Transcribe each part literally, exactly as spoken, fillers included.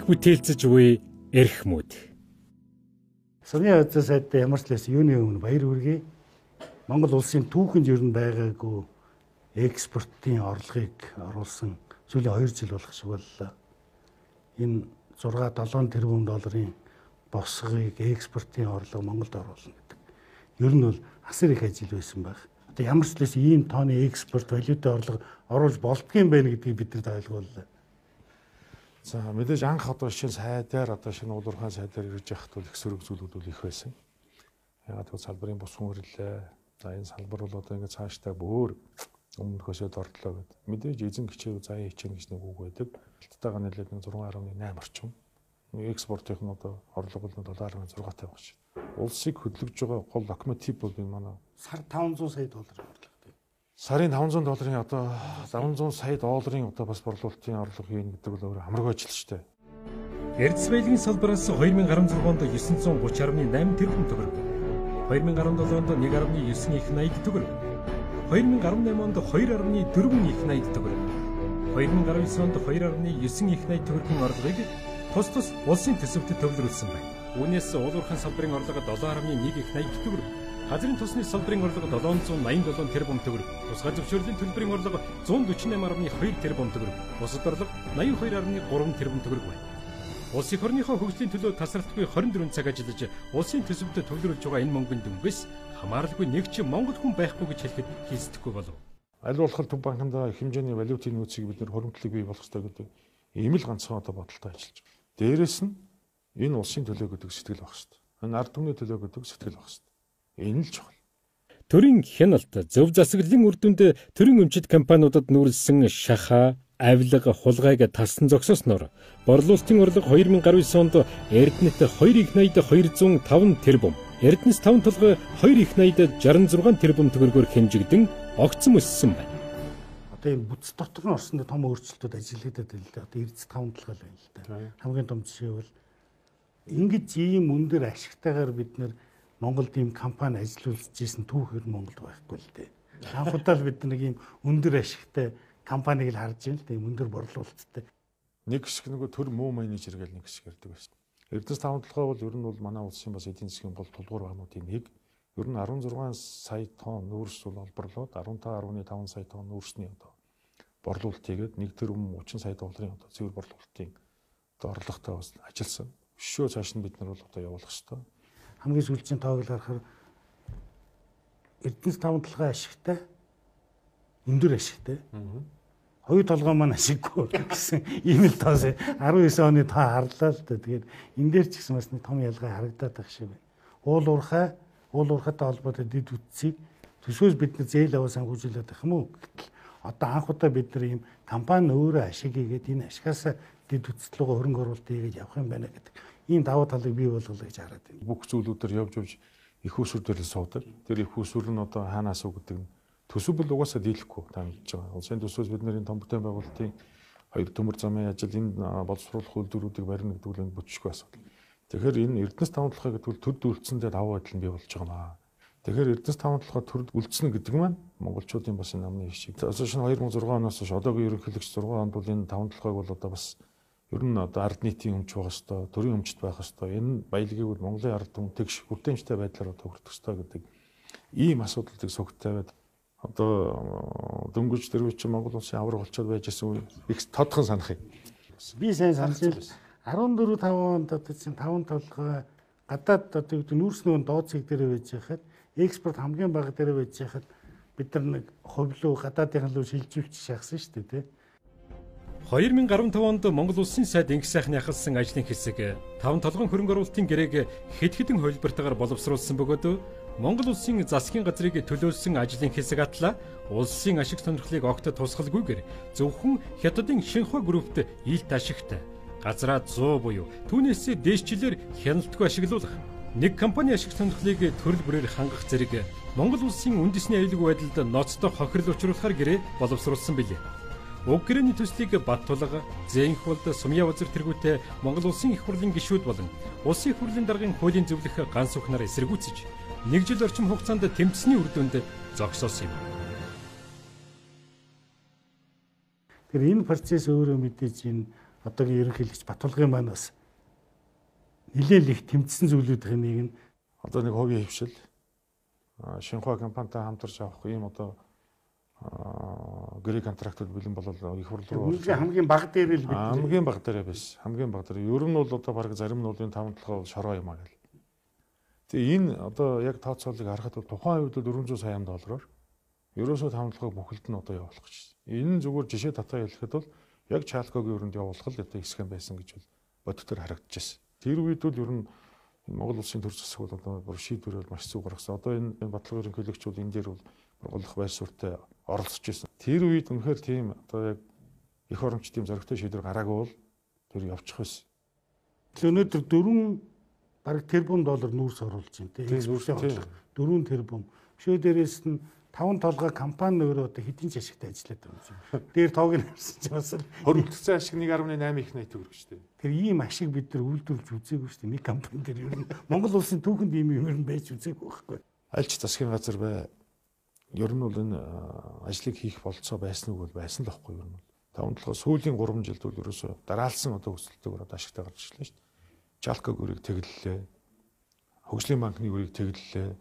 мэдлэгийг бүтээлцэж буй эрхмүүд. Сумын хуудас сайдтай ямар ч лээс юуны өмнө баяр хүргэе. Монгол улсын түүхэнд ер нь байгаагүй экспортын орлогыг оруулсан сүүлийн хоёр жил болох шиг боллоо. Энэ зурга долоон тэрбум долларын босгыг экспортын орлого Монголд оруулна гэдэг. Ер нь бол асар их ажил байсан баг. Одоо ямар ч лээс ийм тооны экспорт валютын орлого оруулж болдгийм байна гэдгийг бид нар ойлгууллаа. За мэдээж анх одоо шинэ сайдаар одоо шинэ уулуурхай сайдаар ирж явахд бол их сөрөг зүйлүүд бол их байсан. Ягаад гэвэл салбарын бус хүнрэлээ. За энэ салбар бол одоо ингээд цаашдаа бүр өмнөхөөсөө дордлоо гэдэг. Мэдээж эзэн гिचээ заяа хичээнэ гэж нэг үг байдаг. Хятадтайгаа нийлээд нэг зургаан гаруй найман орчим. Экспортын нь одоо орлого бол доллар гаруй зургаан тавих шин. Улсыг хөдөлгөж байгаа гол локомотив бол энэ манай сар таван зуун сая доллар орлого. Сарын таван зуун долларын одоо таван зуун сая долларын одоо бас борлуулалтын орлого хийн гэдэг бол өөр хамраг ажил шүү дээ. Эрдэс баялагын салбараас хоёр мянга гаруй зургаанд девятьсот тридцать арван восемь тэрбум төгрөг. хоёр мянга гаруй долоонд нэг арван девять их восемьдесят төгрөг. хоёр мянга гаруй найманд two арван дөрвөн их восемьдесят төгрөг. хоёр мянга гаруй девять онд two арван нine их восемьдесят төгрөгийн орлогыг тус тус улсын төсөвт төвлөрүүлсэн байна. Үүнээс уулуурхайн салбарын орлого seven арван one их eighty төгрөг. Газрын тосны салбарын орлого seven ninety-seven тэрбум төгрөг. Тусгай зөвшөөрлийн төлбөрийн орлого one forty-eight арван two тэрбум төгрөг. Бусад орлого ninety-two арван three тэрбум төгрөг байна. Улсын орныхоо хөгжлийн төлөө тасралтгүй twenty-four цаг ажиллаж улсын төсөвт төвлөрүүлж байгаа энэ мөнгөнд дүнгээс хамааралгүй нэг ч Монгол хүн байхгүй гэж хэлэхэд хийсдэхгүй болов. Аль болох төв банкнд хэмжээний валютын нөөцийг бид нэр хуримтлалыг бий болох хэрэгтэй гэдэг ийм л ганцхан одоо бодолтой ажиллаж байна. Дээрээс нь энэ улсын төлөө гэдэг сэтгэл байх хэрэгтэй. Энэ ард түмний төлөө гэдэг сэтгэл байх хэрэгтэй. Энэ л чухал. Төрийн хяналт, зөв засаглалын үр дүнд төрийн өмчит компаниудад нүүрлсэн шахаа, авилга, хулгайг тассан зогсоосноор борлуулалтын орлого two thousand ninety онд Эрдэнэт two их eighty two hundred five тэрбум, Эрдэнэс таван толгой two их eighty sixty-six тэрбум төгрөгөөр хэмжигдэн огцом өссөн байна. Одоо энэ бүтц дотор нь орсонд том өөрчлөлтүүд ажиллагдаад байна л да. Одоо Эрдэнэс таван толгой л байна л да. Хамгийн том жишээ бол ингэж ийм өндөр ашигтайгаар бид нэр Монголд ийм компани ажиллуулж ирсэн түүхээр Монголд байхгүй л дээ. Анх удаа л бид нэг ийм өндөр ашигтай компаниг л харж байна л дээ. Өндөр борлуулалттай. Нэг хэсэг нөгөө төр муу менежер гэл нэг хэсэг ярьдаг байсан. Эрдэнэс таван толгой бол ер нь бол манай улсын бас эдийн засгийн гол тулгуур бануудын нэг. Ер нь sixteen сая тонн нүүрс бол олборлоод fifteen point five сая тонн нүүрсний одоо борлуулалт хийгээд one тэрбум thirty сая долларын одоо цэвэр борлуулалтын одоо орлоготой бас ажилласан. Өшөө цааш нь бид нар бол одоо явуулах хэрэгтэй. Хамгийн сүүлчийн тоог л харахаар Эрдэнэс таван толгой ашигтай, өндөр ашигтай. Хоёр толгой маань ашиггүй гэсэн ийм л тоос nineteen оны тоо харлаа л да. Тэгээд энэ дээр ч гэсэн бас нэг том ялгаа харагдаад байх шиг байна. Уул уурхай, уул уурхайтай холбоотой дэд үтцийг төсвөөс бид нар зээл аваа санхүүжүүлээд байх юм уу? Гэтэл одоо анх удаа бид нар ийм компани өөрөө ашиг хийгээд энэ ашигаас дэд үтцлөөгөө хөрөнгө оруулалт хийгээд явах юм байна гэдэг. Ийм давуу талыг бий болгоё гэж хараад байна. Бүх зүйлүүдээр явж явж их усүр дээр л суудаг. Тэр их усүр нь одоо хаанаас үг гэдэг нь төсөв бол угаасаа дийлэхгүй та мэдж байгаа. Улсын төсвөөс бид нарын том бүтээн байгуулалтын хоёр төмөр замын ажил энэ боловсруулах үйлдвэрүүдийг барина гэдэг нь бүтчихгүй асуудал. Тэгэхээр энэ Эрдэнэс таван толгой гэдэг бол төр үйлдэлсэндээ давуу байдал нь бий болж байгаа маа. Тэгэхээр Эрдэнэс таван толгой төр үйлдэлсэн гэдэг маань монголчуудын бас энэ намны шиг. Одоо шинэ two thousand six оноос хойш одоогийн ерөнхийлөгч six онд бол энэ таван толгойг бол одоо бас ер нь одоо ард нийтийн өмч байх хэвээр, төрийн өмчт байх хэвээр, энэ баялагийг бол Монголын ард түмтэй хүртээмжтэй байдлаар одоо хүртэх хэвээр гэдэг ийм асуудлыг сүгт тавиад одоо дөнгөж дөрвч Монгол улсын авраг болчиход байж исэн их тодхон санах юм. Би сайн санаж байна. fourteen five онд одоо чинь таван толгой гадаад одоо юу гэдэг нүүрснөө доод цэг дээр байж хахад экспорт хамгийн бага дээр байж хахад бид нар нэг хувлуу гадаадын руу шилжүүлж шахсан шүү дээ тий. two thousand five онд Монгол улсын сайд инх сайхны ахалсан ажлын хэсэг таван толгойн хөрөнгө оруулалтын гэрээг хэд хэдэн хувилбартаагаар боловсруулсан бөгөөд Монгол улсын засгийн газрыг төлөөлсөн ажлын хэсэг атла улсын ашиг сонирхлыг огт тусгалгүйгээр зөвхөн Хятадын Шинхua группт илт ашигтай газраа one hundred буюу түүнээс дээшчлэр хяналтгүй ашиглуулах нэг компани ашиг сонирхлыг төрөл бүрээр хангах зэрэг Монгол улсын үндэсний аюулгүй байдалд ноцтой хохирол учруулахар гэрээ боловсруулсан билээ. Уг гэрээний төслийг Баттулга, Зэнхвалд, Сумьяавзар тэргүүтээ Монгол улсын их хурлын гишүүд болон улсын их хурлын даргын хуулийн зөвлөх ганц ухнаар эсэргүүцэж нэг жил орчим хугацаанд тэмцсэний үр дүнд зогсоосон юм. Тэр энэ процесс өөрөө мэдээж энэ одоогийн ерөнхийлөгч Батулгын маань бас нэлээд их тэмцсэн зүйлүүдийн нэг нь одоо нэг хувийн хөвшил Шинхua компанитай хамтарч авах ийм одоо гэрээ контрактууд бэлэн болол их хурл руу хамгийн бага дээр л бид хамгийн бага дээр биш хамгийн бага дээр ер нь бол одоо баг зарим нь бол энэ таван толгой шороо юм аа гэл. Тэгээ энэ одоо яг тооцоолыг харахад бол тухайн үед дөрвөн зуун сая доллараар ерөөсөө таван толгой бүхэлд нь одоо явуулах гэж байна. Энэ зүгээр жишээ татаа хэлэхэд бол яг Чалкогийн өрөнд явуулах л одоо хэсэг байсан гэж бол бодитоор харагдчихсэн. Тэр үед бол ер нь Монгол улсын төр засаг бол одоо бүр шийдвэрээр маш зүг гаргасан. Одоо энэ баталгаа ерөнхийлөгч бол энэ дээр бол голлох байр суурьтай оролцож байсан. Тэр үед үнэхээр тийм одоо яг их оромч тийм зоригтой шийдвэр гараагүй бол тэр явчих байсан. Өнөөдөр дөрвөн бараг тэрбум доллар нүүрс оруулж байна тийм дөрвөн тэрбум. Бишөө дээрээс нь таван толгой компани өөрөө одоо хэдийн ч ашигтай ажиллаад байгаа юм шиг. Дээр тоог нь харсан ч бас хөрөнгөцсөн ашиг нэг арван восемь их найт төгрөг шүү дээ. Тэр ийм ашиг бид нар үйлдвэрлэж үзээгүй шүү дээ. Нэг компани дээр ер нь Монгол улсын түүхэнд ийм юм ер нь байж үзээгүй байхгүй. Аль ч засгийн газар бай. Ер нь бол энэ ажлыг хийх болцоо байсан уу бол байсан л байхгүй ер нь. Таван толгой сүүлийн гурван жилд бол ерөөсөө дараалсан одоо өсөлтөөр одоо ашигтай гарч ирлээ шүү дээ. Жалког өрийг тэглэлээ. Хөгжлийн банкны өрийг тэглэлээ.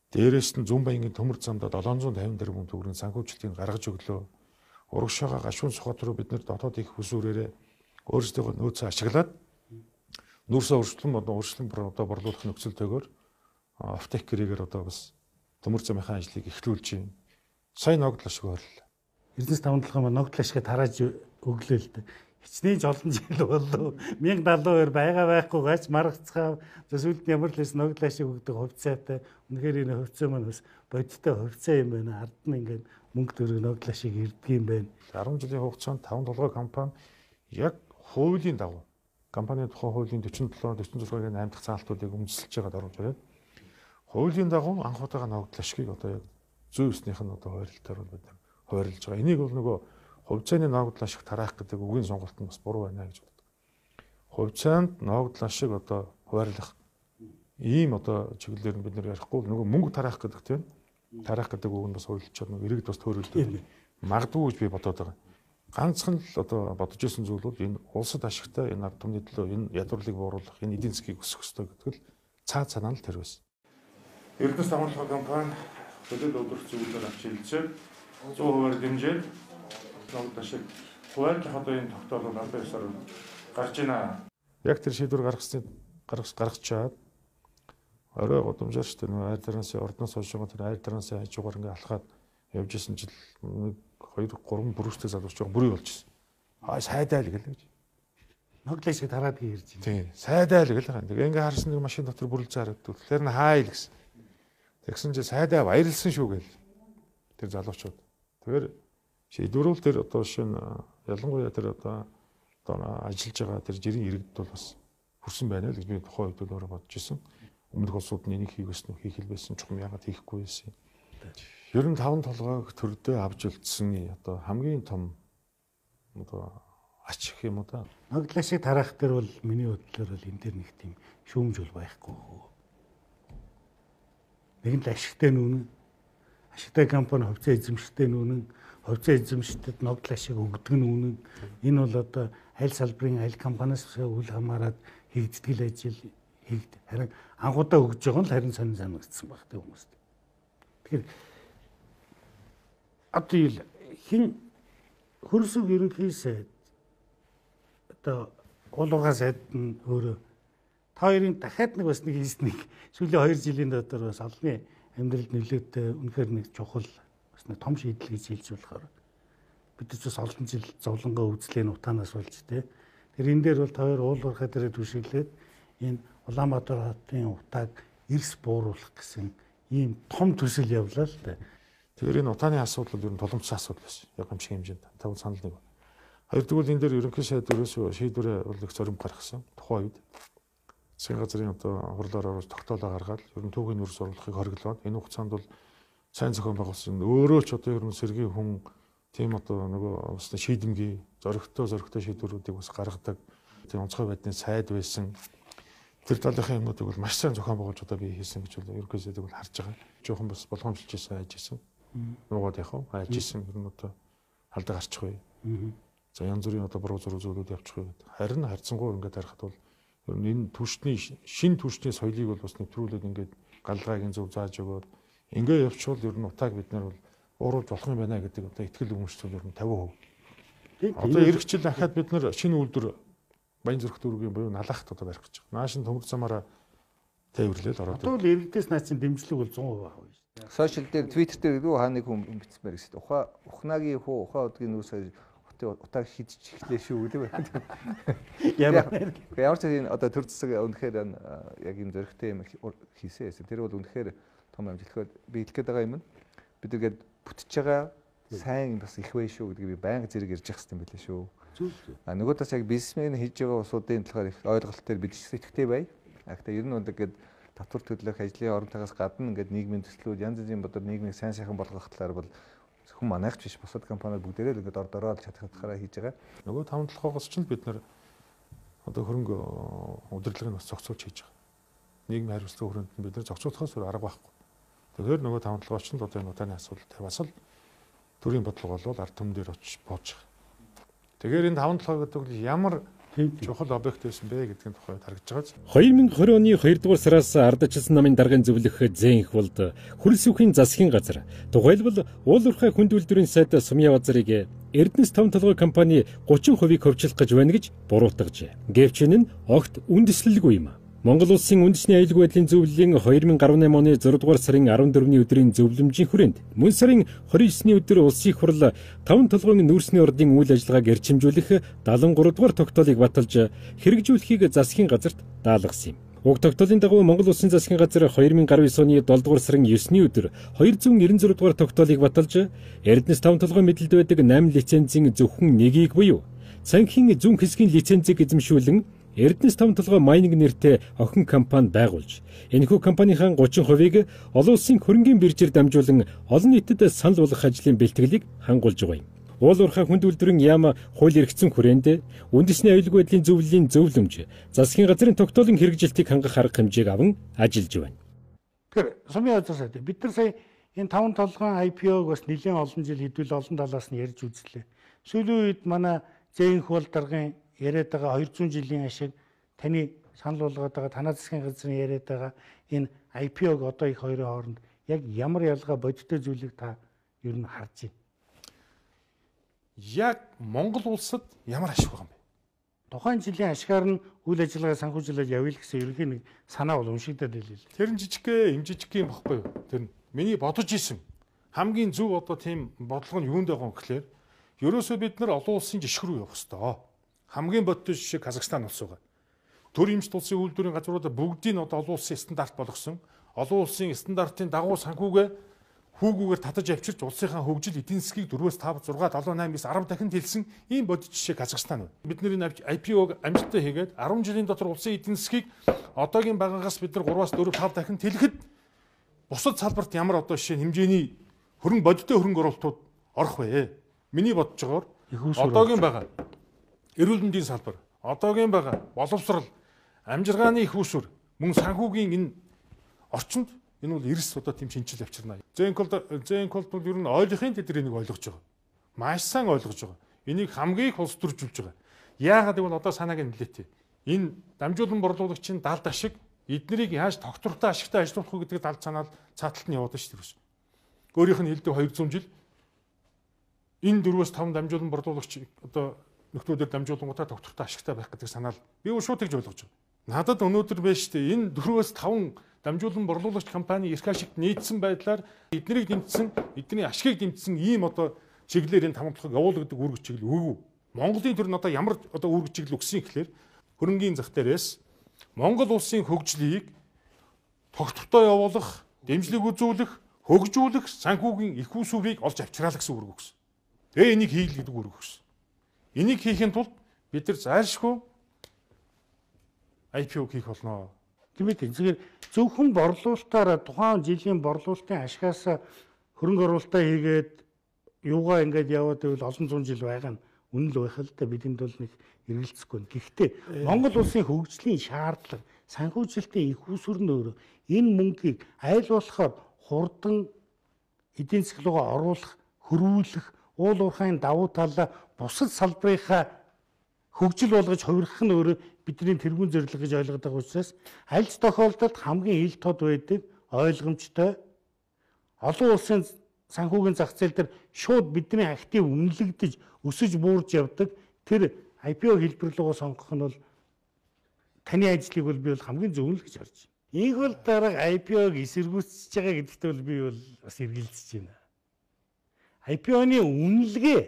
Дээрээс нь Зүүн Баянгийн төмөр замдаа долоон зуун тавин тэрбум төгрөгийн санхүүжилтийг гаргаж өглөө. Урагшаага гашуун сухат руу бид нэр дотоод их хүсвэрээрээ өөрсдөө нөөцөө ашиглаад нүүрсээ өршлөн одоо өршлөн одоо борлуулах нөхцөлтэйгээр офтек гэрээгээр одоо бас төмөр замынхаа ажлыг эхлүүлж байна. Сайн ногдол ашиг ойрлоо. Эрдэнэс таван толгой ногдол ашиг тарааж өглөө л дээ. Хичнээн жолон жил болов. мянга даалуу хоёр байгаа байхгүй гач маргацгаа зөвсөлд ямар л хэс ногдол ашиг өгдөг хувьцаатай. Үнэхээр энэ хувьцаа маань бас бодиттой хувьцаа юм байна. Ард нь ингээд мөнгө төгрөг ногдол ашиг ирдэг юм байна. арван жилийн хугацаанд таван толгой компани яг хуулийн дагуу компанийн тухай хуулийн дөрвөн долоо дөрвөн зургийн восемь дахь заалтуудыг өмсөлж байгаад оруулж ирээд хуулийн дагуу анх удаага ногдол ашигыг одоо яг зүй өснийх нь одоо хуваарлалтаар бид хуваарлаж байгаа. Энийг бол нөгөө хувьцааны ногдол ашиг тараах гэдэг үгийн сонголт нь бас буруу байна гэж боддог. Хувьцаанд ногдол ашиг одоо хуваарлах ийм одоо чиглэлээр нь бид нэр ярихгүй нөгөө мөнгө тараах гэдэг тийм тараах гэдэг үг нь бас хуульчаад нөгөө иргэд бас төөрөлдөв. Магадгүй гэж би бодоод байгаа. Ганцхан л одоо бодож исэн зүйл бол энэ улсад ашигтай энэ ард түмний төлөө энэ ядуурлыг бууруулах энэ эдийн засгийг өсгөх ёстой гэдэг л цаа цаанаа л тэр байсан. Эрдэнэс таван толгой компани хөдөлгөөн өдөрт зүйлээр авч хэлцээ зуун хувиар дэмжээд ногдол ашиг хуваарлах одоо энэ тогтоолол албан ёсоор гарч ийна. Яг тэр шийдвэр гаргасан гаргаж гаргаж чаад орой годомжоор ч тэр айр тарансын ордноос хойш тэр айр тарансын хажуугаар ингээ алхаад явж исэн жил нэг хоёр гурван бүрүүстэй залууч байгаа бүрий болчихсон. Аа сайдаа л гэлээ гэж. Ногдол ашиг тараад гэрж байна. Тийм сайдаа л гэлээ. Тэгээ ингээ харсан нэг машин дотор бүрлцээ харагдав. Тэгэхээр н хаа ил гэсэн. Тэгсэн чи сайдаа баярлсан шүү гээл. Тэр залуучууд. Тэгэхээр шийдвэрүүл тэр одоо шинэ ялангуяа тэр одоо одоо ажиллаж байгаа тэр жирийн иргэд бол бас хүрсэн байна л гэж би тухайн үед өөрөө бодож исэн. Өмнөх улсууд нь энийг хийх ёстой хийх хэл байсан чухам ягаад хийхгүй байсан. Ер нь таван толгойг төрдөө авч үлдсэн одоо хамгийн том одоо ач гэх юм уу та. Ногдол ашиг тараах дээр бол миний бодлоор бол энэ дээр нэг тийм шүүмж бол байхгүй. Нэгэн л ашигтай нүүнэн ашигтай компани хувьцаа эзэмшигтэй нүүнэн хувьцаа эзэмшигтэд ногдол ашиг өгдөг нүүнэн энэ бол одоо аль салбарын аль компаниас үл хамааран хийгддэг л ажил хийгд. Харин анхудаа өгж байгаа нь харин сонин санагдсан баг тийм хүмүүст. Тэгэхээр одоо ил хин хөрсөг ерөнхий сайд одоо уулуугаа сайд нь өөрөө та хоёрын дахиад нэг бас нэг хийснийг сүүлийн хоёр жилийн дотор бас олонний амьдралд нөлөөтэй үнэхээр нэг чухал бас нэг том шийдэл гэж хэлж болохоор бид ч бас олон жил зовлонгоо үзлээн утаанаас болж тэ тэр энэ дээр бол та хоёр уулуурхай дээр түшиглээд энэ Улаанбаатар хотын утааг эрс бууруулах гэсэн ийм том төсөл явлаа л да. Тэгэхээр энэ утааны асуудал ер нь тулгымцсан асуудал байсан. Яг юм шиг хэмжээнд таван санал нэг. Хоёрдугаар энэ дээр ерөнхий сайд ерөөсөө шийдвэрээ бол их зоримт гаргасан. Тухайн үед засгийн газрын одоо хурлаар оруулж тогтоолоо гаргаад ер нь түүхийн нөөц оруулахыг хориглоод энэ хугацаанд бол сайн зохион байгуулсан өөрөө ч одоо ер нь сэргийн хүн тийм одоо нөгөө бас шийдэмгий зоригтой зоригтой шийдвэрүүдийг бас гаргадаг тийм онцгой байдлын сайд байсан. Тэр талынхаа юмнуудыг бол маш сайн зохион байгуулж одоо би хийсэн гэж бол ерөнхий сайдыг бол харж байгаа. Жохон бас болгоомжлж байсан хайж исэн. Нуугаад яхав хайж исэн ер нь одоо халдаа гарчих вэ. За янз бүрийн одоо буруу зураг зүйлүүд явчих үед харин харьцангуй ингээд харахад бол энэ түвшний шин түвшний соёлыг бол бас нэвтрүүлээд ингээд галгаагийн зөв зааж өгөөд ингээд явчихвал ер нь утааг бид нар бол ууруулж болох юм байна гэдэг одоо ихтгэл өмчтөл ер нь тавин хувь. Одоо эх жил дахиад бид нар шинэ үйлдвэр Баянзүрх дүүргийн буюу налахт одоо барих гэж байгаа. Наашин төмөр замаараа тээвэрлэл ороод. Одоо л иргэдээс наацын дэмжлэг бол цон хувь авах шүү дээ. Сошиал дээр Twitter дээр юу хаа нэг хүн бичсмээр гэсэн. Ухаа ухнагийн хуу ухаа удгийн нүүс утааг хидчих эхлэв шүү гэдэг байна. Ямар ямар ч энэ одоо төр засаг үнэхээр яг юм зөрөгтэй юм хийсэн байсан. Тэр бол үнэхээр том амжилттай би хэлэх гээд байгаа юм. Бид нэгэд бүтэж байгаа сайн бас их бай шүү гэдгийг би байнга зэрэг ярьж явах хэрэгтэй байлээ шүү. А нөгөө талаас яг бизнесмен хийж байгаа усуудын талаар их ойлголт төр бид сэтгэвтэй бай. А гэхдээ ер нь бол ингээд татвар төлөх ажлын оронтойгоос гадна ингээд нийгмийн төслүүд янз бүрийн бодор нийгмийг сайн сайхан болгох талаар бол хүн манайхч биш бусад компаниуд бүгдээрээ л ингээд ордороо чадхаараа хийж байгаа. Нөгөө таван толгоогоос ч бид нар одоо хөрөнгө удирдлагыг бас зохицуулж хийж байгаа. Нийгмийн хариуцлага хүрээнд бид нар зохицуулахаас өөр арга байхгүй. Тэгэхээр нөгөө таван толгоогоос ч л одоо энэ утааны асуудал тэр бас л төрийн бодлого болвол ард түмэн дээр очиж бууж байгаа. Тэгэхээр энэ таван толгой гэдэг нь ямар чухал объект байсан бэ гэдгийн тухайд харагдж байгаа. две тысячи двадцать оны хоёрдугаар сараас ардчилсан намын даргын зөвлөх зээнх болд хөрөлсөхийн засгийн газар тухайлбал уул уурхай хүнд үйлдвэрийн сайд Сумья Базарыг Эрдэнэс таван толгой компани гучин хувийг хөвчлөх гэж байна гэж буруутгажээ. Гэвч энэ нь огт үндэслэлгүй юм. Монгол улсын үндэсний аюулгүй байдлын зөвлөлийн две тысячи десять оны зургаадугаар сарын арван дөрөвний өдрийн зөвлөмжийн хүрээнд мөн сарын двадцать девятний өдөр улсын их хурл таван толгойн нүүрсний ордын үйл ажиллагааг эрчимжүүлэх седемдесет и три дугаар тогтоолыг баталж хэрэгжүүлэхийг засгийн газарт даалгасан юм. Уг тогтоолын дагуу Монгол улсын засгийн газар две тысячи девять оны долоодугаар сарын девятний өдөр двести девяносто шесть дугаар тогтоолыг баталж Эрдэнэс таван толгой мэдэлд байдаг восемь лицензийн зөвхөн нэгийг буюу цанхин зүүн хэсгийн лицензийг эзэмшүүлэн Эрдэнэс таван толгой майнинг нэртэй охин компани байгуулж энэхүү компанийн тридцать хувийг олон улсын хөрөнгийн биржээр дамжуулан олон нийтэд санал болгох ажлын бэлтгэлийг хангуулж байгаа юм. Уул уурхай хүнд үйлдвэрийн яам хууль эрхцэн хүрээнд үндэсний аюулгүй байдлын зөвлөлийн зөвлөмж засгийн газрын тогтоолын хэрэгжилтийг хангах арга хэмжээг аван ажиллаж байна. Тэгэхээр Сумья Базар сайд бид нар сая энэ таван толгойн ай пи о-г бас нэлээд олон жил хэдүүл олон талаас нь ярьж үзлээ. Сүүлийн үед манай зээнх бол даргын яриад байгаа двести жилийн ашиг таны санал болгоод байгаа танаа засгийн газрын яриад байгаа энэ ай пи о-г одоо их хоёрын хооронд яг ямар ялгаа бодиттой зүйлийг та ер нь харж байна? Яг Монгол улсад ямар ашиг байгаа юм бэ? Тухайн жилийн ашгаар нь үйл ажиллагаа санхүүжүүлээд явъя л гэсэн ерөнхий нэг санаа бол уншигдаад байлээ. Тэр нь жижигхэн, им жижигхэн юм баггүй юу? Тэр нь миний бодож исэн хамгийн зөв одоо тийм бодлого нь юунд байгаа юм гэхээр ерөөсөө бид нар олон улсын жишг рүү явах хэрэгтэй. Хамгийн бодтой жишээ Казахстан улс байгаа. Төр эмчт улсын үйлдвэрийн газруудаа бүгдийг нь одоо олон улсын стандарт болгосон. Олон улсын стандартын дагуу санхүүгээ хүүгүүгээр татаж авчирч улсынхаа хөгжил эдийн засгийг дөрвөөс тавь зургаад долоо найм дэх арав дахин дэлсэн ийм бодит жишээ Казахстан байна. Бидний ай пи о-г амжилттай хийгээд арван жилийн дотор улсын эдийн засгийг одоогийн байгаагаас бид нар гураваас дөрөв тавь дахин тэлэхэд бусад салбарт ямар одоо жишээ хэмжээний хөрөнгө бодиттой хөрөнгө оруулалтууд орох вэ? Миний бодож байгаагаар одоогийн байгаа эрүүл мэндийн салбар, одоогийн байгаа боловсрал, амжиргааны их усүр, мөн санхүүгийн энэ орчинд энэ бол эрс одоо тийм шинжил авчирна. Зэнкол зэнкол бол ер нь ойлгохын тэд энийг ойлгож байгаа. Маш сайн ойлгож байгаа. Энийг хамгийн их улс төржүүлж байгаа. Яагаад гэвэл одоо санааг нь нэлээтэй. Энэ дамжуулан борлуулагчийн далд ашиг эднэрийг яаж тогтвортой ашигтай ажиллуулах вэ гэдэг далд санаал цааталт нь яваад шүү дээ. Өөрийнх нь хэлдэг двести жил энэ дөрвөөс таван дамжуулан борлуулагч одоо нөхдүүдээр дамжуулангуудаа тогтвортой ашигтай байх гэдэг санаал би шууд тэгж ойлгож байгаа. Надад өнөөдөр байж тээ энэ дөрвөөс таван дамжуулан борлуулагч компани эрх ашигт нийцсэн байдлаар эднийг дэмжсэн, эдний ашигыг дэмжсэн ийм одоо чиглэлээр энэ таван толгойг явуул гэдэг үүрэг чиглэл өгөө. Монголын төр нь одоо ямар одоо үүрэг чиглэл өгсөн гэхээр хөрөнгийн зах дээрээс Монгол улсын хөгжлийг тогтвортой явуулах, дэмжлэг үзүүлэх, хөгжүүлэх санхүүгийн их усүрийг олж авчраалаа гэсэн үүрэг өгсөн. Тэгээ энийг хийх гэдэг үүрэг өгсөн. Энийг хийхин тулд бид нар зайлшгүй ай пи о хийх болно. Тэгмээ тэгэхээр зөвхөн борлуулалтаараа тухайн жилийн борлуулалтын ашигаас хөрөнгө оруулалтаа хийгээд юугаа ингээд яваад байвал олон зуун жил байгаа нь үнэн л байх л да бидэнд бол нэг эргэлзэхгүй. Гэхдээ Монгол улсын хөгжлийн шаардлага, санхүүжилтийн их усүр нь өөрөө энэ мөнгийг айл болохоор хурдан эдийн засаг руугаа оруулах, хөрвүүлэх, уул уурхайн давуу талаа бусад салбарынхаа хөгжил болгож хувирах нь өөрөө бидний тэргүүн зорилго гэж ойлгоод байгаа учраас аль ч тохиолдолд хамгийн ил тод байдаг, ойлгомжтой олон улсын санхүүгийн зах зээл дээр шууд бидний актив үнэлэгдэж өсөж буурж явдаг тэр ай пи о хэлбэрлэгөө сонгох нь бол таны ажлыг бол би бол хамгийн зөв л гэж харж байна. Ийм бол дараа ай пи ог эсэргүүцэж байгаа гэдэгт бол би бол бас эргэлзэж байна. ай пи о-ны үнэлгээ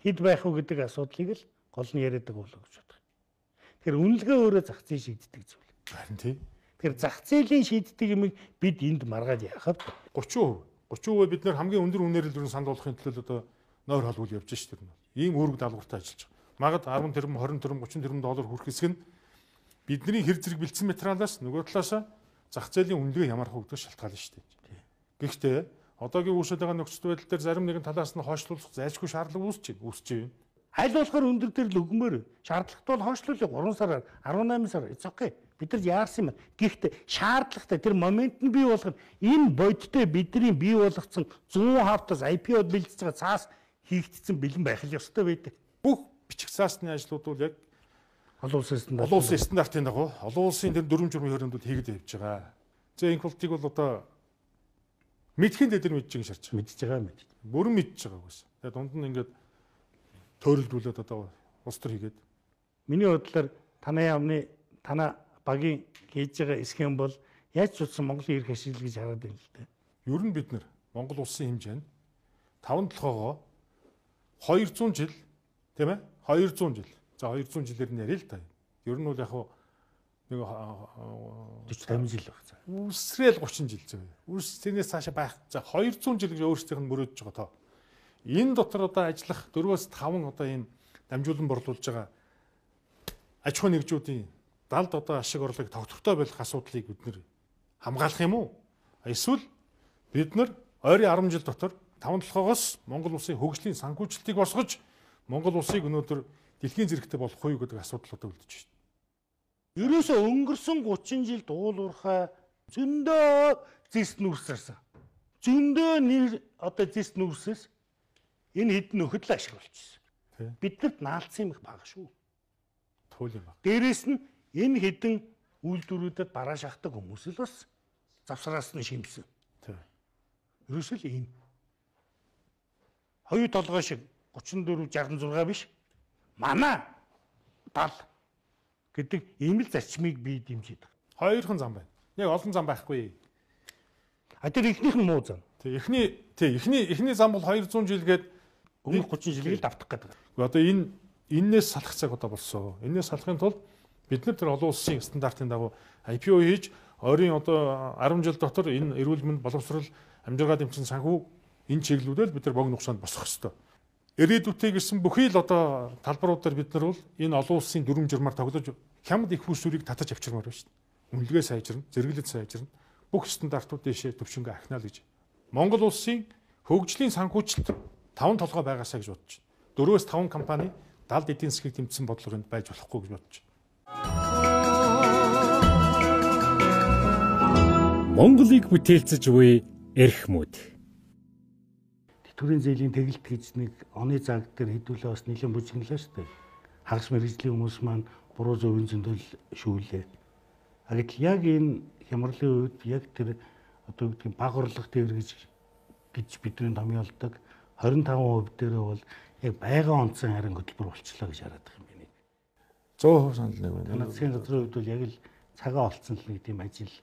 хэд байх вэ гэдэг асуудлыг л гол нь яриад байгаа болов гэж бодох. Тэгэхээр үнэлгээ өөрөө зах зээл шийддэг зүйл. Харин тий. Тэгэхээр зах зээлийн шийддэг юмыг бид энд маргаад яахав тридцать тридцать хувь бид нэр хамгийн өндөр үнээр л санал болгохын төлөө одоо нойр холбол явж шүү дээ. Ийм үүрэг даалгавартай ажиллаж байгаа. Магад десять тэрбум, двадцать тэрбум, тридцать тэрбум доллар хүрэх хэсэг нь бидний хэр зэрэг бэлдсэн материалаас нөгөө талаас зах зээлийн үнэлгээ ямар хөө гэдэг шалтгаална шүү дээ. Гэхдээ одоогийн үүсэж байгаа нөхцөл байдал дээр зарим нэгэн талаас нь хойшлуулах зайлшгүй шаардлага үүсэж байна. Үүсэж байна. Аль болохоор өндөр дээр л өгмөр шаардлагатай бол хойшлуулъя гурван сараар арван сар it's okay. Бид нар яарсан юм. Гэхдээ шаардлагатай тэр момент нь бий болгох энэ бодиттой бидний бий болгоцсон сто хавтас ай пи о-д бэлдэж байгаа цаас хийгдсэн бэлэн байх л ёстой байдаг. Бүх бичих цаасны ажлууд бол яг олон улсын стандарт. Олон улсын стандартын дагуу олон улсын тэр дүрм журмын хөрөндүүд хийгээд явж байгаа. За энэ болтыг бол одоо мэдхийн дээр мэдж байгаа шаарч байгаа. Мэдж байгаа мэд. Бүрэн мэдж байгаа гэсэн. Тэгээ дунд нь ингээд төөрөлдүүлээд одоо улс төр хийгээд. Миний бодлоор танай яамны танай багийн хийж байгаа схем бол яаж ч утсан Монголын эрх ашиг гэж хараад байна л дээ. Ер нь бид нар Монгол улсын хэмжээнд таван толгоогоо двухсад жил тийм ээ двухсад жил. За двухсад жилээр нь яриа л та. Ер нь бол яг нэг forty жил баг. Үсрээл тридцать жил зөө. Үс тэрнээс цаашаа байх. За двухсад жил гэж өөрсдийнх нь мөрөөдөж байгаа тоо. Энэ дотор одоо ажиллах дөрвөөс таван одоо энэ дамжуулан борлуулж байгаа аж ахуй нэгжүүдийн далд одоо ашиг орлогыг тогтвортой болох асуудлыг бид нэр хамгаалах юм уу? Эсвэл бид нар ойрын десять жил дотор таван толгоогоос Монгол улсын хөгжлийн санхүүжилтийг босгож Монгол улсыг өнөөдөр дэлхийн зэрэгтэй болох уу гэдэг асуудлуудад үлдэж байна. Ерөөсөө өнгөрсөн тридцать жилд уул уурхай зөндөө зэс нүрсэрсэн. Зөндөө нэр одоо зэс нүрсээс энэ хэдэн нөхөд л ашиг болчихсон. Биднэрт наалцсан юм их бага шүү. Туул юм баг. Дээрээс нь энэ хэдэн үйлдвэрүүдэд бараа шахдаг хүмүүс л бас завсраас нь шимсэн. Тийм. Ерөөсөө л ийм хоёр толгой шиг тридцать четыре шестьдесят шесть биш. Манай тал гэдэг ийм л зарчмыг би дэмжиж байгаа. Хоёрхан зам байна. Яг олон зам байхгүй. А тэр ихнийх нь муу зам. Тэг эхний тэг эхний эхний зам бол двухсад жил гээд өмнөх тридцать жилийг л давтах гэдэг. Одоо энэ энээс салах цаг одоо болсон. Энээс салахын тулд бид нар тэр олон улсын стандартын дагуу ай пи о хийж ойрын одоо десять жил дотор энэ эрүүл мэнд боловсрол амжиргаа дэмжин санхүү энэ чиглэлүүдээр бид нар бог нугшаанд босгох ёстой. Ирээдүйтэй гэсэн бүхий л одоо талбаруудаар бид нар бол энэ олон улсын дүрм журмаар тоглож хямд их хүүсвэрийг татаж авчирмаар байна шүү дээ. Үнэлгээ сайжирна, зэрэглэл сайжирна. Бүх стандартууд дэшээ төвшөнгө ахнаа л гэж. Монгол улсын хөгжлийн санхүүжилт таван толгой байгаасаа гэж бодож байна. Дөрвөөс таван компани далд эдийн засгийг тэмцсэн бодлогонд байж болохгүй гэж бодож байна. Монголыг бүтээлцэж буй эрхмүүд. Тэтгэврийн зээлийн тэгэлт гэж нэг оны цаг дээр хэдүүлээ бас нэлээд бүжиглээ шүү дээ. Хагас мэргэжлийн хүмүүс маань буруу зөвийн зөндөл шүүлээ. А гэтэл яг энэ хямралын үед яг тэр одоо гэдэг баг орлого тээвэр гэж гэж бидний томьёолдог двадцать пять хувь дээрээ бол яг байгаль онцон харин хөтөлбөр болчлоо гэж хараад байгаа юм байна. сто хувь санал нэг байна. Танай газрын хувьд бол яг л цагаа олцсон л нэг тийм ажил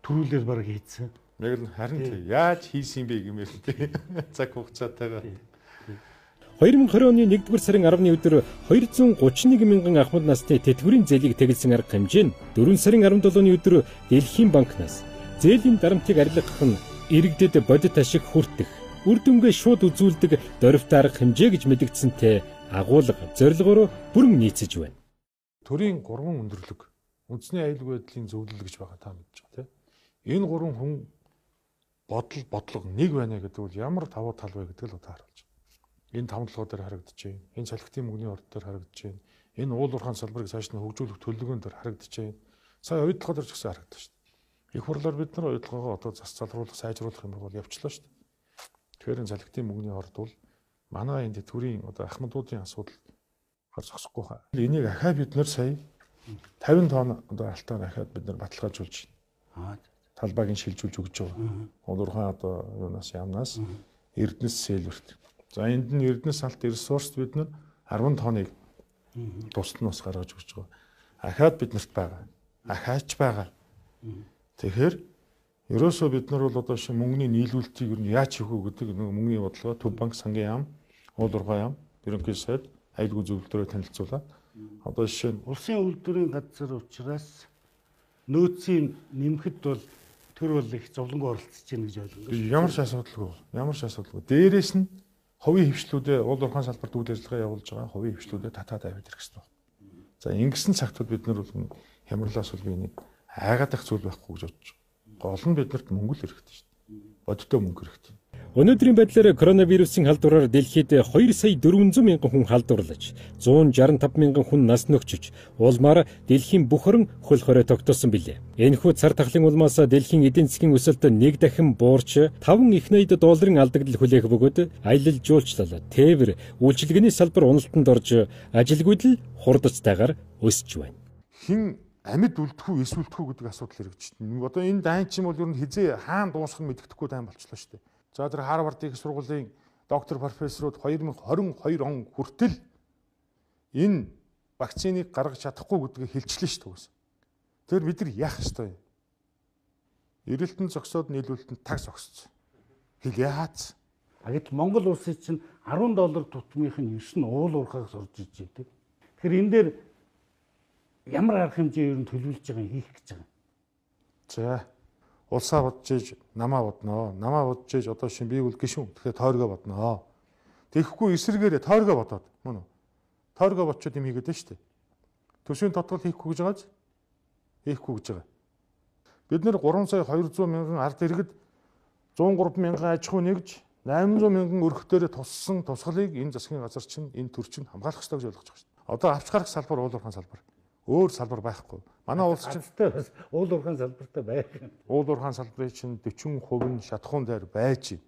төрүүлэр баг хийцэн. Яг л харин тийм яаж хийсэн бэ гэмээр тийм цаг хугацаатайгаар. две тысячи двадцать оны нэгдүгээр сарын арваны өдөр двести тридцать one мянган ахмад насны тэтгэврийн зээлийг тэгэлсэн арга хэмжээ нь дөрвөн сарын арван долооны өдөр Дэлхийн банкнаас зээлийн дарамтыг арилгах нь иргэдэд бодит ашиг хүртэх, үр дүнгээ шууд үзүүлдэг дөрвөлт арга хэмжээ гэж мэдэгдсэнтэй агуулга зорилгоор бүрэн нийцэж байна. Төрийн гурван өндөрлөг үндэсний аюулгүй байдлын зөвлөл гэж байгаа та мэдж байгаа тийм. Энэ гурван хүн бодол бодлого нэг байна гэдэг бол ямар давуу тал вэ гэдэг л одоо харуулж байна. Энэ таван толгой дээр харагдаж байна. Энэ салхитын мөнгөний орд дээр харагдаж байна. Энэ уул уурхайн салбарыг цааш нь хөгжүүлэх төлөвлөгөөн дээр харагдаж байна. Сая ойдлогоо дээр ч гэсэн харагдаж байна. Их хурлаар бид нар ойдлогоогоо одоо зас залруулах, сайжруулах юм бол явчлаа шүү дээ. Тэгэхээр энэ салхитын мөнгөний орд бол Манай энэ төрийн одоо ахмадуудын асуудал гар зогсохгүй хаа. Энийг ахаа бид нар сая тавин тонн одоо алтаар ахаад бид нар баталгаажуулж байна. Талбайг нь шилжүүлж өгч байгаа. Улуурхай одоо юунаас ямнаас Эрдэнэс сэлбэрт. За энд нь Эрдэнэс алт ресурс бид нар арван тонныг тусад нь бас гаргаж өгч байгаа. Ахаад биднэрт байгаа. Ахаач байгаа. Тэгэхээр ерөөсөө бид нар бол одоо шин мөнгөний нийлүүлэлтийг юу яаж хийх вэ гэдэг нэг мөнгөний бодлого Төв банк, сангийн яам, уулуурхай яам, ерөнхий сайд, аюулгүй зөвлөлтөөрөө танилцуулаад одоо жишээ нь улсын үйлдвэрийн газар учраас нөөцийн нэмэхэд бол тэр бол их зовлонгоо оролцож байна гэж ойлгоо. Ямар ч асуудалгүй. Ямар ч асуудалгүй. Дээрээс нь хувийн хвшлүүдээ уулуурхай салбарт үйл ажиллагаа явуулж байгаа хувийн хвшлүүдээ татаад аваад ирэх хэрэгтэй. За ингэсэн цагтууд бид нар бол хямралаас бол би нэг айгаад ах зүйл байхгүй гэж бодож байна. Гол нь биднэрт мөнгө л хэрэгтэй шүү дээ. Бодиттой мөнгө хэрэгтэй. Өнөөдрийн байдлаар коронавирусын халдвараар дэлхийд хоёр сая дөрвөн зуун мянган хүн халдварлаж, зуун шаран тав мянган хүн нас нөхчөж, улмаар дэлхийн бүх орон хөл хорой тогтоосон билээ. Энэхүү цар тахлын улмаас дэлхийн эдийн засгийн өсөлт нэг дахин буурч таван их найд долларын алдагдал хүлээх бөгөөд аялал жуулчлал, тээвэр, үйлчилгээний салбар уналтанд орж, ажилгүйдэл хурдцтайгаар өсөж байна. Хин амьд үлдэхүү, эсвэлдэхүү гэдэг асуудал хэрэгжиж байна. Одоо энэ дайн чинь бол ер нь хизээ хаана дуусах нь мэддэхгүй дайн болчихлоо шүү дээ. За тэр Харвардын их сургуулийн доктор профессорууд хоёр мың хорин хоёр он хүртэл энэ вакциныг гаргаж чадахгүй гэдгийг хэлчихлээ шүү дээ. Тэр бид нар яах ёстой юм? Эрэлтэн зогсоод нийлүүлэлтэнд таг зогссон. Хэл яац? Гэтэл Монгол улсын чинь арван доллар тутмынх нь ерш нь уул уурхайг сурж иж дээ. Тэгэхээр энэ дээр ямар арга хэмжээ ер нь төлөвлөж байгаа юм хийх гэж байгаа. За улсаа бодож иж намаа бодноо. Намаа бодож иж одоо шин би бол гişүн. Тэгэхээр тойргоо бодноо. Тэгэхгүй эсрэгээрээ тойргоо бодоод мөн үү? Тойргоо бодчод юм хийгээд байна шүү дээ. Төсвийн тодтол хийхгүй гэж байгааз хийхгүй гэж байгаа. Бид нэр гурван сая хоёр зуун мянган ард иргэд зуун гурван мянган аж ахуй нэгж восемь зуун мянган өрхтөөрөө туссан тусгалыг энэ засгийн газар чинь энэ төр чинь хамгаалах ёстой гэж ойлгож байгаа шүү дээ. Одоо авч гарах салбар уулуурхай салбар. Өөр салбар байхгүй. Манай улс чинь бас уулуурхай салбартай байх. Уулуурхай салбарын чинь дөрвөн хувь нь шатхуун дээр байж байна.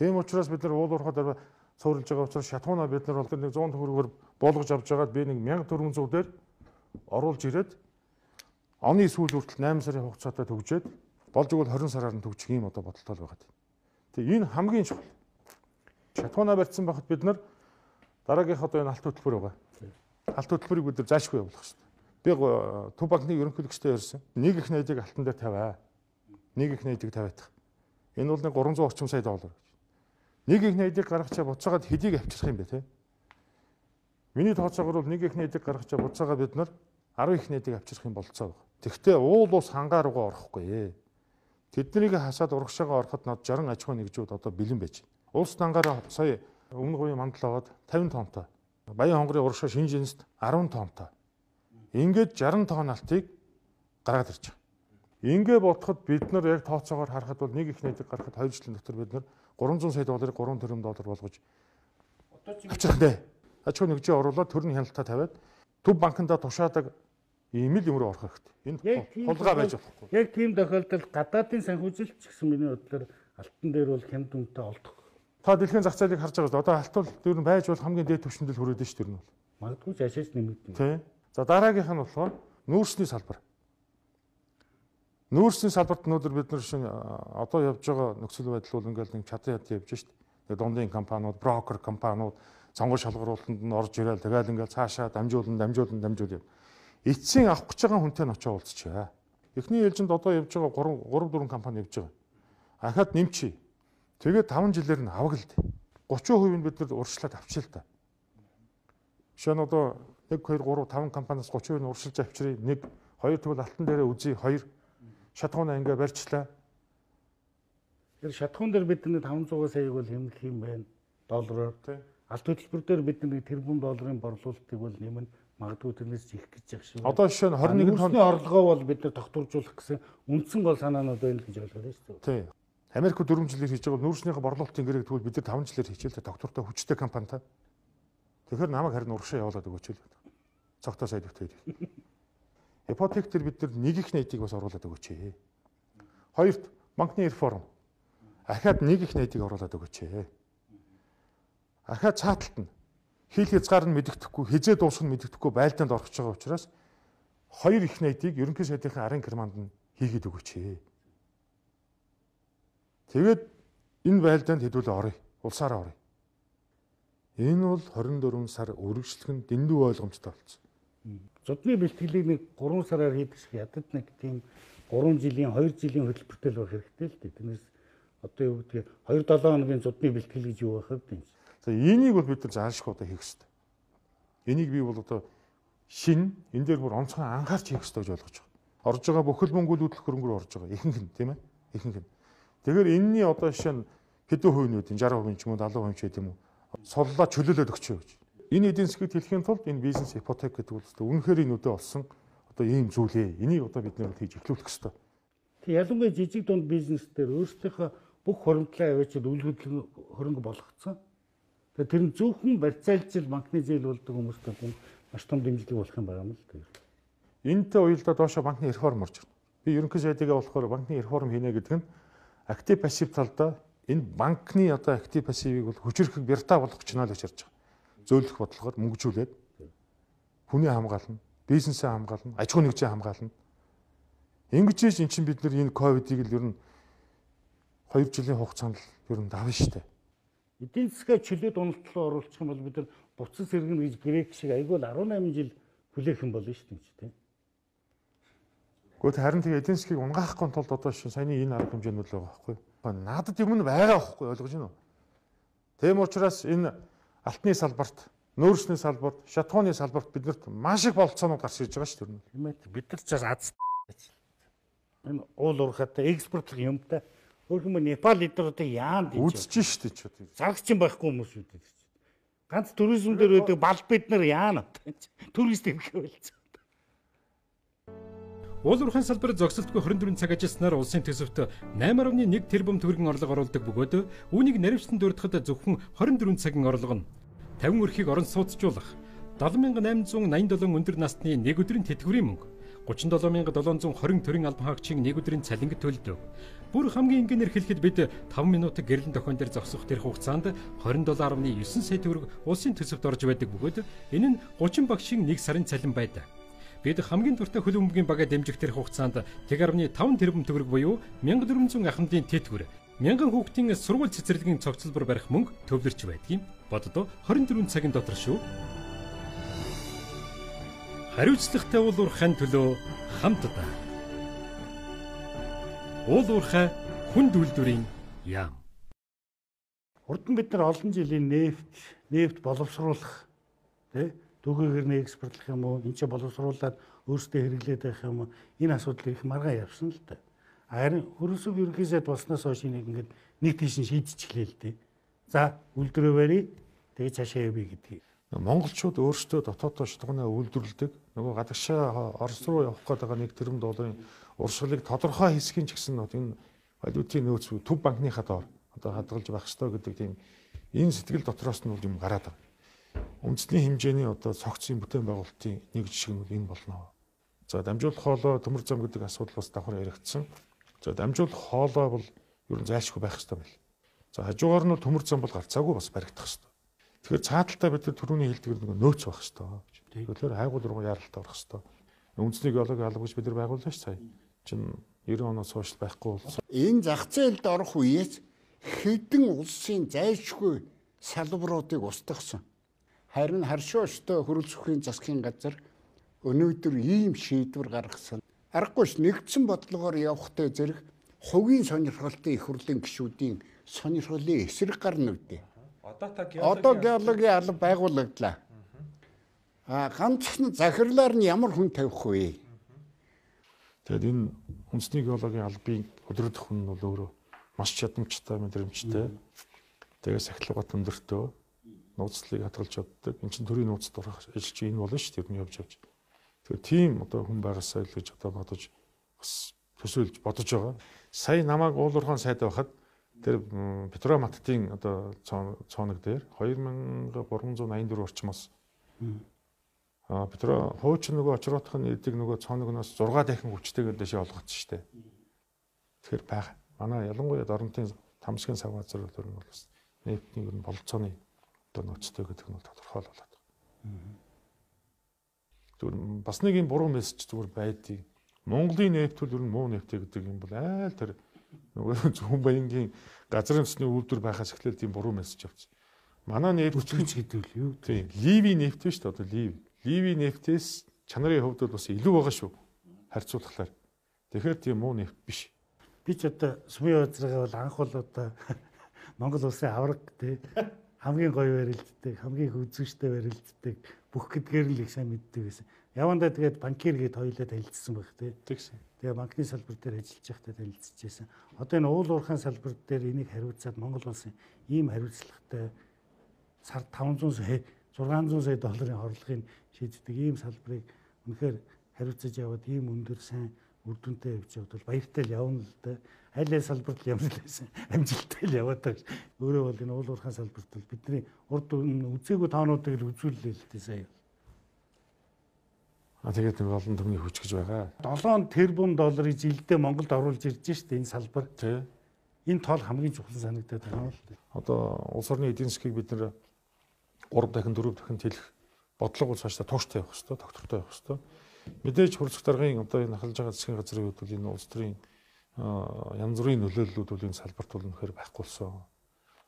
Тийм учраас бид нар уулуурхай дээр цуурилж байгаа учраас шатхуунаа бид нар бол нэг зуун төгрөгөөр болгож авч байгаад би нэг мянга дөрвөн зуун дээр оруулж ирээд оны сүүл хүртэл восемь сарын хугацаатай төгжээд болж игэл двадцать сараар нь төгжих юм одоо бодолтой л байгаа. Тэгээ энэ хамгийн чухал. Шатхуунаа барьсан байхад бид нар дараагийнх одоо энэ алт хөтөлбөр байгаа. Алт хөтөлбөрийг бид нар заашгүй явуулах шүү дээ. Би Төв банкны ерөнхийлөгчтэй ярьсан. Нэг их найдыг алтан дээр тавиа. Нэг их найдыг тавиадах. Энэ бол нэг гурван зуун орчим сая доллар гэж. Нэг их найдыг гаргачаа буцаагаад хэдийг авчрах юм бэ те? Миний тооцоогоор бол нэг их найдыг гаргачаа буцаагаад бид нар арван их найдыг авчрах юм болцоо байна. Тэгвэл уул ус хангаа руугаа орохгүй ээ. Тэднийг хасаад урагшаага ороход нод жаран аж ахуй нэгжүүд одоо бэлэн байж байна. Улс дангаараа сая өмнө говийн мандал аваад тавин тонтой. Баян хонгорын урагшаа Шинжэнэст арван тонтой. Ингээд шаран тонн алтыг гаргаад ирж байгаа. Ингээ бодоход бид нар яг тооцоогоор харахад бол нэг их найдыг гаргахад хоёр жилийн дотор бид нар гурван зуун сая долларыг гурван тэрбум доллар болгож авчих нэ. Аж ахуй нэгжээ оруулаад төрний хяналтаа тавиад Төв банкнда тушаадаг ийм л юм руу орох хэрэгтэй. Энэ хулгай байж болохгүй. Яг тийм тохиолдолд гадаадын санхүүжилт ч гэсэн миний бодлоор алтан дээр бол хямд үнэтэй олдох. Та дэлхийн зах зээлийг харж байгаа. Одоо алтан дээр нь байж бол хамгийн дээд түвшинд л хүрээд шүү дээ. Тэр нь бол. Магадгүй ч ашаас нэмэгдэнэ. Тийм. За дараагийнх нь болохоор нүүрсний салбар. Нүүрсний салбарт өнөөдөр бид нар шинэ одоо явж байгаа нөхцөл байдал бол ингээл нэг чадан ят явж шít. Тэгээ дундын компаниуд, брокер компаниуд сонгол шалгаруулалтанд нь орж ирээл тэгэл ингээл цаашаа дамжуулан дамжуулан дамжуул юм. Эцсийн авах гэж байгаа хүнтэй нь очиж уулзчихъя. Эхний ээлжинд одоо явж байгаа гурван дөрвөн компани явж байгаа. Ахаад нэмчи. Тэгээд таван жилээр нь аваг л дээ. гурван хувийг нь бид нар урьдчилаад авчил та. Жишээ нь одоо нэг хоёр гурав таван компаниас гурван хувийг нь урьдчилж авчирыг. Нэг хоёр тэгвэл алтан дээрээ үзье. Хоёр шатхуунаа ингээ барьчлаа. Тэр шатхуун дээр бид нэг таван зуун саяг бол хэмнэх юм байна. Доллараар. Алт хөтөлбөр дээр бид нэг тэрбум долларын борлуулалтыг бол нэмэн магадгүй тэрнээс их гэж явах шиг. Одоо жишээ нь двадцать нэгэн тонны орлогоо бол бид нар тогтворжуулах гэсэн үндсэн гол санаанууд байна гэж ойлгоод байна шүү дээ. Тийм. Америк дөрвөн жилээр хийж байгаа нүүрснийхээ борлуулалтын гэрэг тэгвэл бид нар таван жилээр хичээлтэй доктортой хүчтэй компанитай. Тэгэхээр намайг харин урагшаа явуулаад өгөөч л. Цогтой сайд өгтөөд. Ипотек төр бид нар нэг их найдыг бас оруулаад өгөөч. Хоёрт банкны реформ. Ахаад нэг их найдыг оруулаад өгөөч. Ахаа цааталт нь хил хязгаар нь мэддэхгүй, хизээ дуусах нь мэддэхгүй байлдаанд орох байгаа учраас хоёр их найдыг ерөнхий сайдынхаа арын германд нь хийгээд өгөөч. Тэгээд энэ байлдаанд хэдүүлээ оръё. Улсаараа оръё. Энэ бол хорин дөрвөн сар үргэлжлэх нь дэндүү ойлгомжтой болсон. Зодны бэлтгэлийг нэг гурван сараар хийдэг шиг ядад нэг тийм гурван жилийн хоёр жилийн хөтөлбөртэй л байх хэрэгтэй л дээ. Тэрнээс одоо юу гэдгийг хоёр долоо хоногийн зодны бэлтгэл гэж юу байх вэ? За энийг бол бид нар заашгүй одоо хийх хэрэгтэй. Энийг би бол одоо шин энэ дээр бүр онцгой анхаарч хийх хэрэгтэй гэж ойлгож байгаа. Орж байгаа бүхэл мөнгөлөдлөх хөрөнгөөр орж байгаа. Ихэнх нь тийм ээ. Ихэнх нь. Тэгэхээр энэний одоо жишээ нь хэдэн хувийн үе шарх хувийн ч юм уу залуу хувийн ч гэдэг юм уу соллоо чөлөөлөд өгчөө гэж. Энэ эдийн засгийг хэлхийн тулд энэ бизнес ипотек гэдэг бол өстой үнэхээр энэ үдэ олсон одоо ийм зүйлээ. Энийг одоо бид нэр хийж эхлүүлэх хэрэгтэй. Тэг ялангуяа жижиг дунд бизнес дээр өөрсдийнхөө бүх хуримтлаа аваачид үйл хөдлөн хөрөнгө болгоцсон. Тэгээ тэр нь зөвхөн барьцаалжил банкны зээл болдог хүмүүстээ хүн маш том дэмжлэг болох юм байна л дээ. Энэтэй уялдаа доошо банкны реформ орж ирнэ. Би ерөнхий сайдыгаа болохоор банкны реформ хийнэ гэдэг нь актив пассив талдаа энэ банкны одоо актив пассивыг бол хүчрэх бяртаа болгох ч нэ л гэж харж байгаа. Зөөлөх бодлогоор мөнгөжүүлээд хүний хамгаална, бизнесээ хамгаална, аж ахуй нэгжээ хамгаална. Ингэж ин чинь бид нар энэ ковидыг л ер нь хоёр жилийн хугацаанд л ер нь давна шүү дээ. Эдийн засгаа чөлөөт уналтлуу оруулах юм бол бид нар буцаж сэргэнэ гэж грек шиг айгүй л арван намын жил хүлээх юм болно шүү дээ тийм. Гэхдээ харин тэгээ эдийн засгийг унгаахгүй тулд одоо шин саяны энэ арга хэмжээнүүд л байгаа байхгүй. Надад юм нь байгаа байхгүй ойлгож байна уу? Тэм учраас энэ алтны салбарт, нөөцний салбарт, шатхууны салбарт биднэрт маш их болцоонууд гарч ирж байгаа шүү дээ. Тийм ээ. Бид нар ч аз энэ уул уурхатай экспортлох юмтай өөрхөн Непал эднэрүүдийг яанд гэж үзэж шүү дээ ч одоо. Зарагч юм байхгүй хүмүүс үү дээ. Ганц туризм дээр үүдэг бал бид нар яана. Турист ирэх байлцсан. Уул уурхайн салбар зогсолтгүй хорин дөрвөн цаг ажилласнаар улсын төсөвт найман гаруй нэг тэрбум төгрөгийн орлого оруулдаг бөгөөд үүнийг наривчлан дурдахад зөвхөн хорин дөрвөн цагийн орлого нь тавин өрхийг орон сууцжуулах, долоо мянга найман зуун найман долоо өндөр насны нэг өдрийн тэтгэврийн мөнгө, гучин долоо мянга долоон зуун хорин төрийн албан хаагчийн нэг өдрийн цалинг төлдөг. Бүр хамгийн энгийнээр хэлэхэд бид таван минутын гэрлэн тохион дээр зогсох тэр хугацаанд двадцать долоо гаруй нine сая төгрөг улсын төсөвт орж байдаг бөгөөд энэ нь гучин багшийн нэг сарын цалин байдаг. Бид хамгийн дуртай хөл бөмбөгийн бага дэмжих тэр хугацаанд нэг гаруй five тэрбум төгрөг буюу one thousand four hundred ахмадын тэтгэвэр, мянган хүүхдийн сургууль цэцэрлэгийн цогцлбор барих мөнгө төвлөрч байдгийг боддоо twenty-four цагийн дотор шүү. Хариуцлагатай уул уурхайн төлөө хамтдаа. Уул уурхай хүнд үйлдвэрийн яам. Урд нь бид нар олон жилийн нефт, нефт боловсруулах тий түүхийгээр нь экспортлох юм уу, энэ ч боловсруулаад өөрсдөө хэрэглээд байх юм уу, энэ асуудлыг их маргаа явсан л да. Харин хөрөсөв ерөнхий сайд болсноос хойш нэг ингээд нэг тийш шийдчихлээ л дээ. За үйлдвэрээ барья, тэгээ цаашаа явъя гэдгийг. Монголчууд өөрсдөө дотооддоо шатгууны үйлдвэрлэдэг. Нөгөө гадагшаа Орос руу явах гэдэг нэг тэрбум долларын урсгалыг тодорхой хэсгийн ч гэсэн энэ валютын нөөц төв банкныхаа доор одоо хадгалж байх ёстой гэдэг тийм энэ сэтгэл дотроос нь юм гараад байна. Үндэсний хэмжээний одоо цогцын бүтээн байгуулалтын нэг жишг нь энэ болно. За дамжуулах хоолой төмөр зам гэдэг асуудал бас давхар яригдсан. За дамжуулах хоолой бол ер нь зайлшгүй байх ёстой байл. За хажуугаар нь төмөр зам бол гарцаагүй бас баригдах ёстой. Тэгэхээр цааталтаа бид түрүүний хэлдгээр нэг нөөц байх ёстой гэж. Тэгэхээр хайгуул руу яралтай орох ёстой. Үндэсний геологи алба гэж бид нар байгууллаа ш сая. Чин ninety оноос хойш байхгүй болсон. Энэ зах зээлд орох үеэс хэдэн улсын зайлшгүй салбаруудыг устгасан. Харин харшуу өстой хөрөл сүхийн засгийн газар өнөөдөр ийм шийдвэр гаргасан. Аргагүй нэгдсэн бодлогоор явахтай зэрэг хувийн сонирхолтой их хурлын гишүүдийн сонирхлын эсрэг гарна үдээ. Одоо геологийн алба байгуулагдлаа. А ганцхан захирлаар нь ямар хүн тавих вэ? Тэгэхээр энэ үндэсний геологийн албыг өдрөдөх хүн бол өөрөө маш чадамжтай, мэдрэмжтэй. Тэгээ сахилгат өндөртөө нууцлыг хадгалж чаддаг. Энд чинь төрийн нууцд орох ажил чинь энэ болно шүү дээ. Тэр нь явж явж. Тэгэхээр тийм одоо хүн байгаасаа л гэж одоо бодож бас төсөөлж бодож байгаа. Сая намайг уул уурхайн сайд байхад тэр Петроматтын одоо цооног дээр two thousand three hundred eighty-four орчмоос а Петро хууч нөгөө очроотх нь эдэг нөгөө цооногноос six дахин хүчтэйгээр дэше олгоцсон шүү дээ. Тэгэхээр байгаа. Манай ялангуяа Доронтын Тамсгийн сав газар төр нь бол бас нефтний ер нь болцооны одоо нөөцтэй гэдэг нь тодорхой болоод байна. Зүгээр бас нэг юм буруу мессеж зүгээр байдгийг Монголын нефтөл ер нь муу нефтэ гэдэг юм бол айл тэр нөгөө зөвхөн баянгийн газрын төсний үйлдвэр байхаас эхлээл тийм буруу мессеж авчихсан. Манай нефт гэдэг л юу? Тийм. Ливи нефт шүү дээ одоо лив. Ливи нефтээс чанарын хувьд бол бас илүү байгаа шүү. Харьцуулахлаар. Тэгэхээр тийм муу нефт биш. Би ч одоо сүмийн газрыгаа бол анх бол одоо Монгол улсын авраг тий хамгийн гоё барилддаг, хамгийн хүзүүштэй барилддаг бүх гэдгээр л их сайн мэддэг байсан. Явандаа тэгээд банкир гээд хоёулаа танилцсан байх тий. Тэгсэн. Тэгээ банкны салбар дээр ажиллаж байхдаа танилцчихсан. Одоо энэ уул уурхайн салбар дээр энийг хариуцаад Монгол улсын ийм хариуцлагатай сар таван зуун сая зургаан зуун сая долларын орлогыг шийддэг ийм салбарыг үнэхээр хариуцаж яваад ийм өндөр сайн үр дүнтэй явж яваад бол баяртай л явна л да. Аль аль салбарт ямар л байсан амжилттай л яваад байгаа. Өөрөө бол энэ уул уурхайн салбарт бол бидний урд үзээгүй тоонуудыг л үзүүллээ л дээ сая. А тэгээд нэг олон түмний хүч гэж байгаа. долоон тэрбум долларыг жилдээ Монголд оруулж ирж штэ энэ салбар. Тий. Энэ тоол хамгийн чухал санагдаад байгаа л дээ. Одоо улс орны эдийн засгийг бид нэр гурав дахин дөрөв дахин тэлэх бодлого бол цаашдаа тууштай явах хэрэгтэй, доктортой явах хэрэгтэй. Мэдээж хурцлах даргын одоо энэ ахалж байгаа засгийн газрын хувьд бол энэ улс төрийн янз бүрийн нөлөөллүүд бол энэ салбарт бол үнэхээр байхгүй болсон.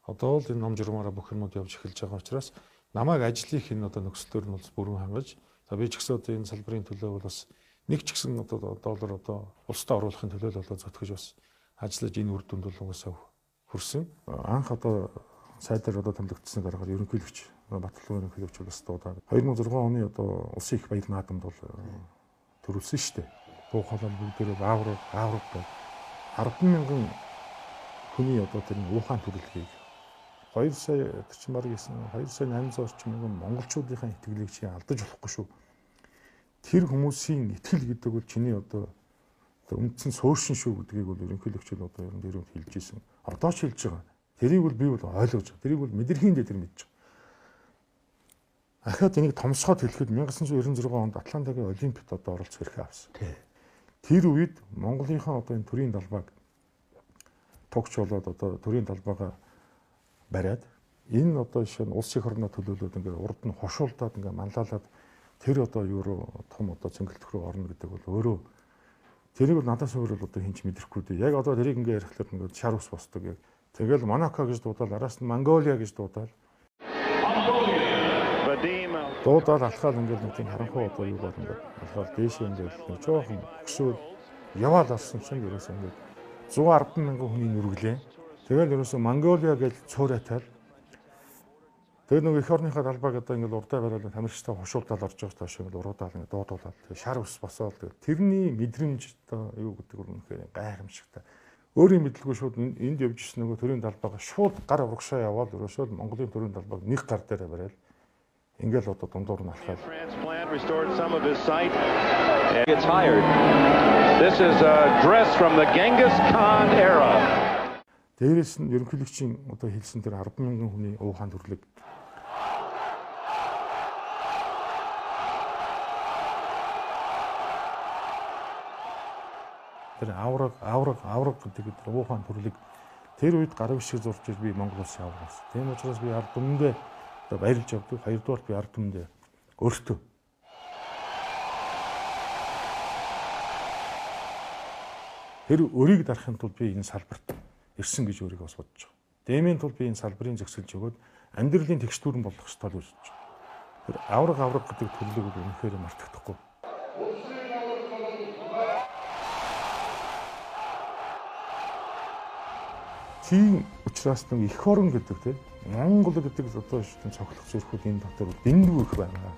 Одоо л энэ ном журмаараа бүх юмуд явж эхэлж байгаа учраас намайг ажлынх энэ одоо нөхцлөөр нь бол бүрэн хангаж за би ч гэсэн одоо энэ салбарын төлөө бол бас нэг ч гэсэн одоо доллар одоо улстай оруулахын төлөө л болоо зөтгөж бас ажиллаж энэ үр дүнд бол угаасаа хүрсэн. Анх одоо сайдаар одоо томилогдсоныг харахаар ерөнхийлөгч Батлан ерөнхийлөгч бас одоо хоёр мың зургаан оны одоо улсын их баялаг наадамд бол төрүүлсэн шүү дээ. Буу холон бүгдээрээ аавар аавар бол арван мянган хүний одоо тэр уухаан төрөлхийг хоёр сая тэр чинь баг гэсэн хоёр сая найман зуун орчим мянган монголчуудын итгэлийг чи алдаж болохгүй шүү. Тэр хүмүүсийн итгэл гэдэг бол чиний одоо үндсэн сууршин шүү гэдгийг бол ерөнхийлөгч нь одоо ерөн дээрөө хэлж ийсэн. Одоо ч хэлж байгаа. Тэрийг бол би бол ойлгож байгаа. Тэрийг бол мэдрэхиндээ тэр мэдж байгаа. Ахаад энийг томсгоод хэлэхэд 천ix девятьсот девяносто зургаан онд Атлантагийн Олимпиад одоо оролцох эрхээ авсан. Тэр үед Монголынхаа одоо энэ төрийн талбайг тогч болоод одоо төрийн талбайгаа бариад энэ одоо шинэ улс их орноо төлөөлөөд ингээд урд нь хошуулдаад ингээд манлайлаад тэр одоо юу руу том одоо цэнгэлдэх рүү орно гэдэг бол өөрөө тэрийг бол надаас өөр бол одоо хинч мэдрэхгүй дээ. Яг одоо тэрийг ингээд ярихлаар ингээд шар ус босдог яг. Тэгэл Монако гэж дуудаал араас нь Монголиа гэж дуудаал. Дуудаал алхаал ингээд нэг тийм харанхуй одоо юу бол ингээд алхаал дээшээ ингээд нэг жоохон өксөөл яваал алсан чинь ерөөсөө ингээд one hundred мянган хүний нүргэлээ. Тэгэл ерөөсөө Монголиа гэж цуурайтал. Тэгээ нэг эх орныхаа талбайг одоо ингээд урдаа бариад тамирчтай хушуулдаад орж байгаа тааш ингээд уруудаал ингээд дуудуулаад шар ус босоод тэрний мэдрэмж одоо юу гэдэг нь үнэхээр гайхамшигтай. Өөрийн мэдлгүй шууд энд явж ирсэн нөгөө төрийн талбайгаа шууд гар урагшаа яваад ерөөсөө Монголын төрийн талбайг нэг гар дээрээ бариад ингээл одоо дундуур нь алхаад. This is a dress from the Genghis Khan era. Дээрээс нь ерөнхийлөгчийн одоо хэлсэн тэр арван мянган хүний уухан төрлөг тэр авраг авраг авраг гэдэг тэр уухан төрлөг тэр үед гарав шиг зурж ир би Монгол улсын аврагаас. Тийм учраас би ард түмэндээ одоо баярлж явдаг. Хоёрдугаар би ард түмэндээ өөртөө тэр өрийг дарахын тулд би энэ салбарт ирсэн гэж өөрийгөө бас бодож байгаа. Дэмийн тулд би энэ салбарыг зөксөлж өгөөд амьдралын тэгштүүрэн болох ёстой л гэж бодож байгаа. Тэр авраг авраг гэдэг төрлөг бол үнэхээр мартагдахгүй. Тийм учраас нэг эх орон гэдэг тийм Монгол гэдэг одоо шин цоглох зөрхүүд энэ дотор дэндүү их байна.